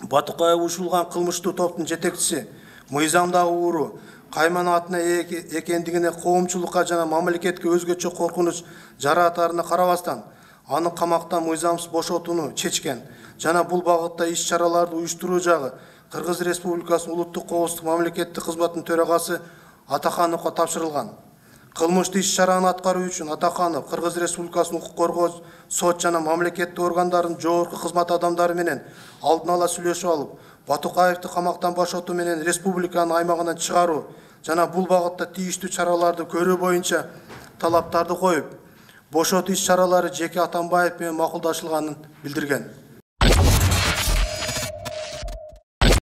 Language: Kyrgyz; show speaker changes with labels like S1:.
S1: Батукаев ушулган кылмыштуу топтун жетекчиси мыйзамдагы ууру Кайман атына экендигине коомчулукка жана мамлекетке өзгөчө коркунуч жаратаарына карабастан аны камактан мыйзамсыз бошотууну чечкен жана бул багытта иш-чараларды уюштуруу жагы Кыргыз Республикасынын улуттук коопсуздук мамлекеттик кызматынын төрагасы Атахановго тапшырылган. Кылмыштуу иш-чараны аткаруу үчүн Атаханов Кыргыз Республикасынын укук коргоо, сот жана мамлекеттик органдардын жогорку кызмат адамдары менен алдын ала сүйлөшүп алып, Батукаевди камактан бошотуу менен республиканын аймагынан чыгаруу жана бул багытта тийиштүү чараларды көрүү боюнча талаптарды коюп, бошотуу иш-чаралары Жеке Атамбаев менен макулдашылганын билдирген.